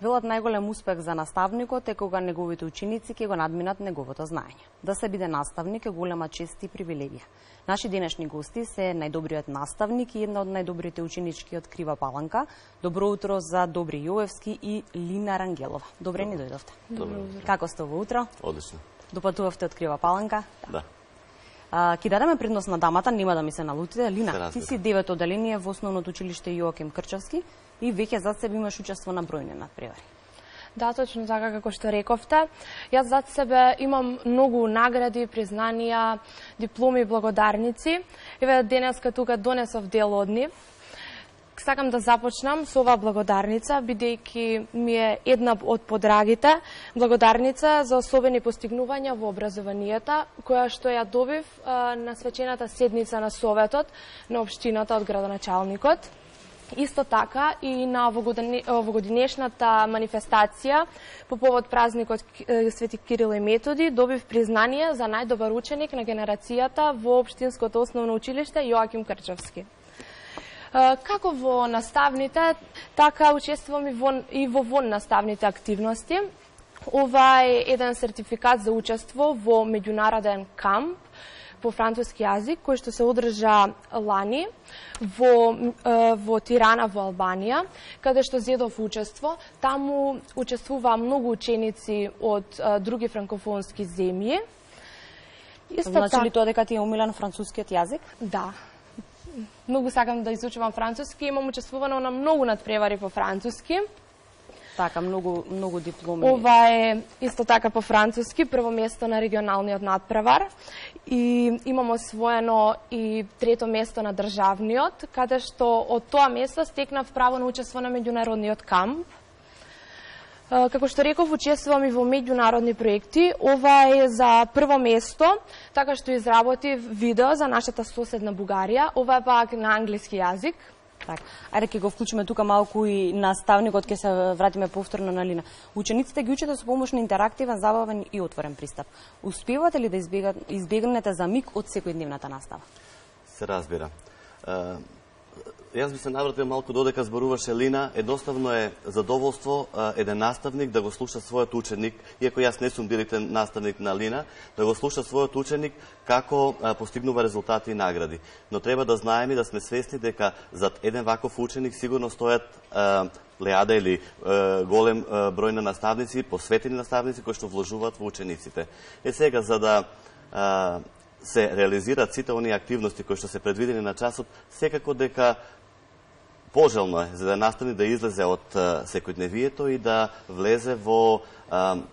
Велат најголем успех за наставникот е кога неговите ученици ќе го надминат неговото знаење. Да се биде наставник е голема чест и привилегија. Наши денешни гости се најдобриот наставник и една од најдобрите ученички од Крива Паланка. Добро утро за Добри Јовевски и Лина Рангелова. Добре ни дојдовте. Добро утро. Како сте во утро? Одлично. Допатувавте од Крива Паланка? Да. Ки дадеме предност на дамата, нема да ми се налутите. Лина, ти си 9 оделение во основното училиште Јоаким Крчевски и веќе зад себе имаш учество на бројни надпревари. Да, точно така како што рековте. Јас зад себе имам многу награди, признанија, дипломи и благодарници. Еве денеска тука донесов дел од нив. Сакам да започнам со оваа благодарница, бидејќи ми е една од подрагите, благодарница за особени постигнувања во образованието, која што ја добив на свечената седница на Советот на општината од градоначалникот. Исто така и на овогодинешната манифестација по повод празникот Свети Кирил и Методи добив признание за најдобар ученик на генерацијата во општинското основно училиште Јоаким Крчевски. Како во наставните, така учествувам и во воннаставните активности. Ова е еден сертификат за учество во меѓународен камп по француски јазик, кој што се одржа лани во Тирана во Албанија, каде што зедов учество. Таму учествуваа многу ученици од други франкофонски земји. Значи ли тоа дека ти е умилен францускиот јазик? Да. Многу сакам да изучувам француски, имам учествувано на многу надпревари по француски. Така, многу дипломи. Ова е исто така по француски, прво место на регионалниот надпревар и имам освоено и трето место на државниот, каде што од тоа место стекнав право на учество на меѓународниот камп. Како што реков, учествувам и во меѓународни проекти. Ова е за прво место, така што изработив видео за нашата соседна Бугарија. Ова е пак на англиски јазик. Так, ајде ќе го вклучиме тука малку и наставникот, ќе се вратиме повторно на Лина. Учениците ги учите со помош на интерактивен, забавен и отворен пристап. Успевате ли да избегнете за миг од секојдневната настава? Се разбира. Јас би се навратил малку додека зборуваше Лина. Едноставно е задоволство еден наставник да го слуша својот ученик, иако јас не сум директен наставник на Лина, да го слуша својот ученик како постигнува резултати и награди. Но треба да знаеме и да сме свесни дека зад еден ваков ученик сигурно стојат леада или голем број на наставници, посветени наставници кои што вложуваат во учениците. Сега, за да се реализираат сите оние активности кои што се предвидени на часот, секако дека пожелно е за да наставник да излезе од секојдневието и да влезе во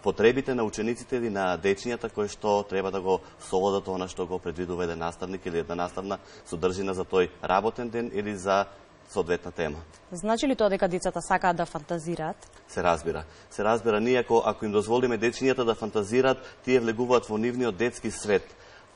потребите на учениците или на дечињата кои што треба да го совладат она што го предвидува еден наставник или една наставна содржина за тој работен ден или за соодветна тема. Значи ли тоа дека децата сакаат да фантазираат? Се разбира. Се разбира, ние ако им дозволиме дечињата да фантазираат, тие влегуваат во нивниот детски свет.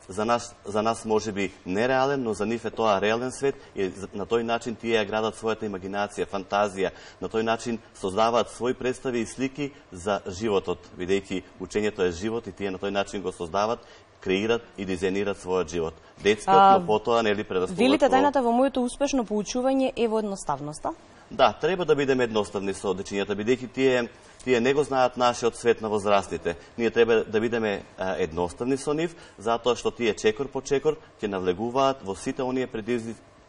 За нас може би нереален, но за нив е тоа реален свет и на тој начин тие ја градат својата имагинација, фантазија, на тој начин создаваат своји представи и слики за животот, бидејќи учењето е живот и тие на тој начин го создават, креират и дизајнират својот живот. Детскиот, но потоа нели предоставуваат. Велите тајната во моето успешно поучување е во едноставноста? Да, треба да бидеме едноставни со дечињата, бидејќи тие не го знаат нашиот свет на возрастните. Ние треба да бидеме едноставни со нив, затоа што тие чекор по чекор ќе навлегуваат во сите оние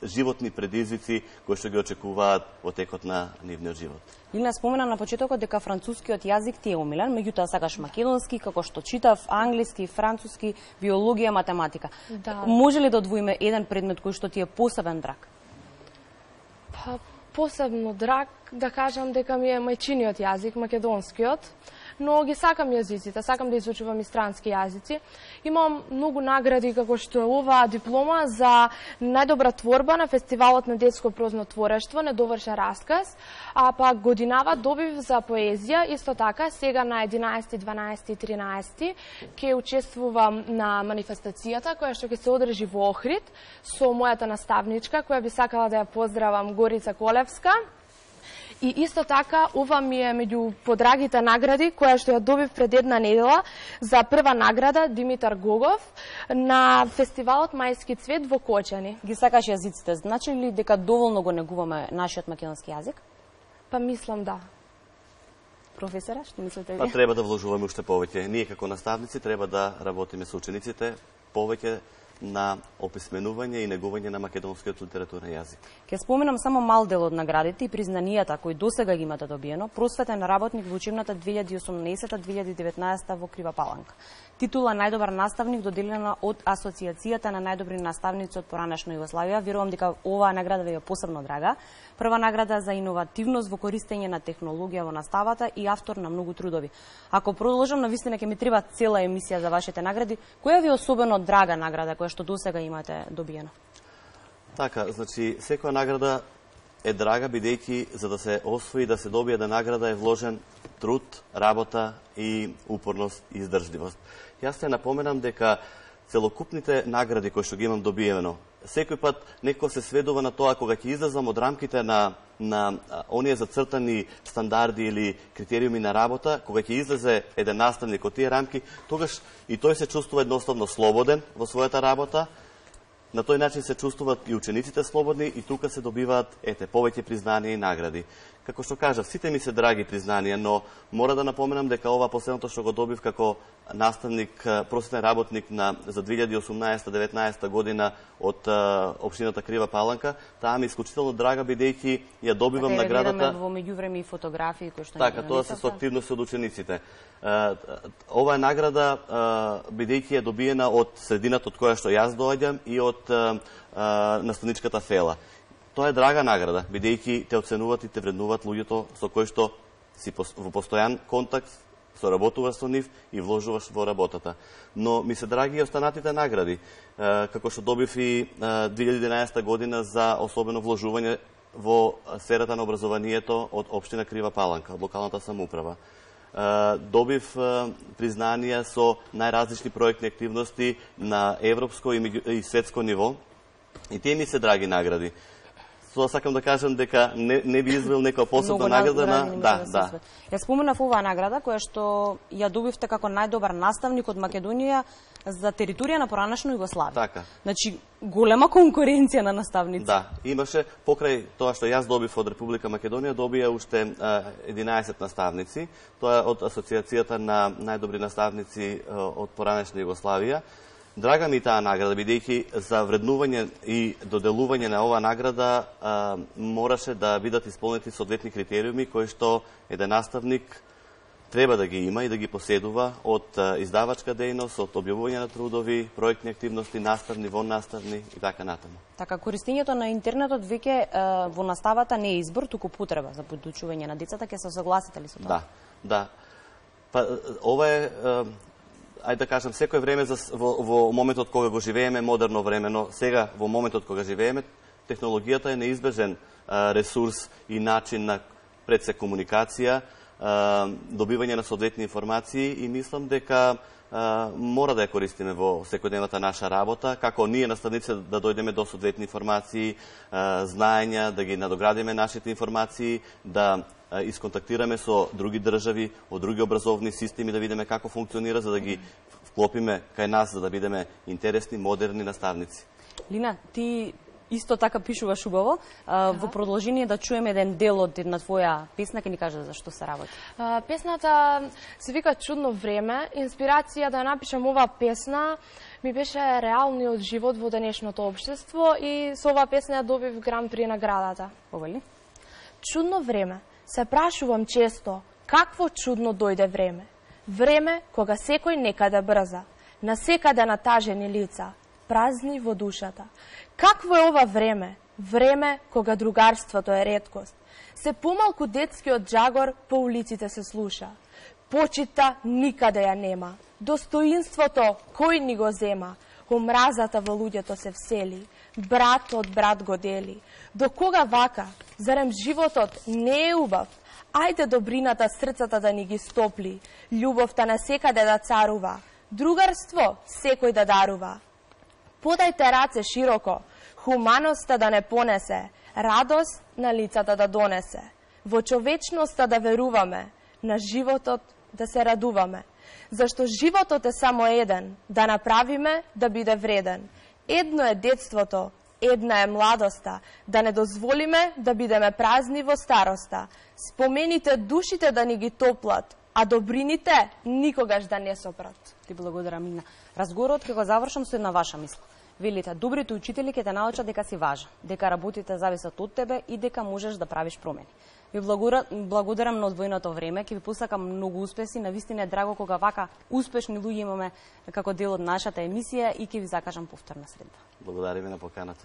животни предизвици кои што ги очекуваат во текот на нивниот живот. Лина спомена на почетокот дека францускиот јазик ти е умилен, меѓутоа сакаш македонски, како што читав, англиски, француски, биологија, математика. Да. Може ли да одвоиме еден предмет кој што ти е посебен драг? Посебно драг, да кажам дека ми е мајчиниот јазик, македонскиот, но ги сакам јазиците, сакам да изучувам и странски јазици. Имам многу награди како што е оваа диплома за најдобра творба на фестивалот на детско прозно творештво, недовршен расказ, а пак годинава добив за поезија, исто така сега на 11, 12 и 13 ќе учествувам на манифестацијата која што ќе се одржи во Охрид со мојата наставничка која би сакала да ја поздравам, Горица Колевска. И исто така, ова ми е меѓу подрагите награди, која што ја добив пред една недела за прва награда Димитар Гогов на фестивалот Мајски цвет во Кочани. Ги сакаш јазиците, значи ли дека доволно го негуваме нашиот македонски јазик? Па мислам да. професора, што мислите Па ви? треба да вложуваме уште повеќе. Ние како наставници треба да работиме со учениците повеќе на описменување и негување на македонскиот литературен јазик. Ке споменам само мал дел од наградите и признанијата кои досега ги имате добиено. Просветен работник во учебната 2018-2019 во Крива Паланка. Титула најдобар наставник доделена од Асоциацијата на најдобри наставници од поранешна Југославија. Верувам дека оваа награда ви е посебно драга. Прва награда за иновативност во користење на технологија во наставата и автор на многу трудови. Ако продолжам, навистина ќе ми треба цела емисија за вашите награди. Која ви е особено драга награда која што досега имате добиена? Така, значи, секоја награда е драга, бидејќи за да се освои, да се добие да награда е вложен труд, работа и упорност и издржливост. Јас се напоменам дека целокупните награди кои што ги имам добиено, секој пат некој се сведува на тоа кога ќе излезам од рамките на оние зацртани стандарди или критериуми на работа, кога ќе излезе еден наставник од тие рамки, тогаш и тој се чувствува едноставно слободен во својата работа. На тој начин се чувствуваат и учениците слободни и тука се добиваат повеќе признанија и награди. Како што кажав, сите ми се драги признанија, но мора да напоменам дека ова последното што го добив како наставник, просветен работник за 2018-19 година од општината Крива Паланка, таа ми е исклучително драга бидејќи ја добивам наградата. Гледаме во меѓувреме и фотографии кои што така, тоа се со активност од учениците. Ова е награда бидејќи е добиена од средината од која што јас доаѓам и од наставничката фела. Тоа е драга награда, бидејќи те оценуваат и те вреднуваат луѓето со кои што си во постојан контакт, соработуваш со нив и вложуваш во работата. Но ми се драги и останатите награди, како што добив и 2011 година за особено вложување во сферата на образованието од општина Крива Паланка, од локалната самоуправа. Добив признанија со најразлични проектни активности на европско и светско ниво и тие ми се драги награди. Тоа сакам да кажам дека не би извел некоја посебна награда на... Да. Ја споменав оваа награда која што ја добивте како најдобар наставник од Македонија за територија на поранешна Југославија. Така. Значи, голема конкуренција на наставници. Да, имаше покрај тоа што јас добив од Република Македонија, добија уште 11 наставници. Тоа е од Асоциацијата на најдобри наставници од поранешна Југославија. Драга ми таа награда, бидејќи за вреднување и доделување на оваа награда мораше да бидат исполнети соодветни критериуми кои што еден наставник треба да ги има и да ги поседува од издавачка дејност, од објавување на трудови, проектни активности, наставни, воннаставни и така натаму. Така, користењето на интернетот веќе во наставата не е избор, туку потреба за подучување на децата, ќе се согласите ли со тоа? Да. Па ова е ајде да кажам, секој време во моментот кога го живееме, модерно време, но сега во моментот кога живееме, технологијата е неизбежен ресурс и начин на пред се комуникација, добивање на соодветни информации и мислам дека мора да ја користиме во секојдневната наша работа, како ние наставници да дојдеме до соодветни информации, знаења, да ги надоградиме нашите информации, да исконтактираме со други држави, од други образовни системи, да видиме како функционира, за да ги вклопиме кај нас, за да бидеме интересни, модерни наставници. Лина, ти исто така пишуваш убаво. Во продолжение да чуеме еден дел од една твоја песна, ќе ни кажеш за што се работи. Песната се вика Чудно време. Инспирација да напишам оваа песна ми беше реалниот живот во денешното општество и со оваа песна ја добив Гран При наградата. Ова ли? Чудно време. Се прашувам често, какво чудно дојде време. Време кога секој некаде брза, насекаде натажени лица, празни во душата. Какво е ова време? Време кога другарството е реткост. Се помалку детскиот джагор по улиците се слуша. Почита никаде ја нема. Достоинството кој ни го зема. Омразата во луѓето се всели. Брат од брат го дели. До кога вака? Зарем животот не е убав? Ајде добрината срцата да ни ги стопли. Љубовта насекаде да царува. Другарство секој да дарува. Подајте раце широко, хуманоста да не понесе, радост на лицата да донесе, во човечноста да веруваме, на животот да се радуваме. Зашто животот е само еден, да направиме да биде вреден. Едно е детството, Една е младоста, да не дозволиме да бидеме празни во староста. Спомените душите да ни ги топлат, а добрините никогаш да не сопрат. Ти благодарам, Мина. Разговорот ќе го завршам со една ваша мисла. Велите, добрите учители ќе те научат дека си важен, дека работите зависат од тебе и дека можеш да правиш промени. Ви благодарам на одвоеното време, ќе ви посакам многу успеси, навистина е драго кога вака успешни луѓе имаме како дел од нашата емисија и ќе ви закажам повторна средба. Благодариме на поканата.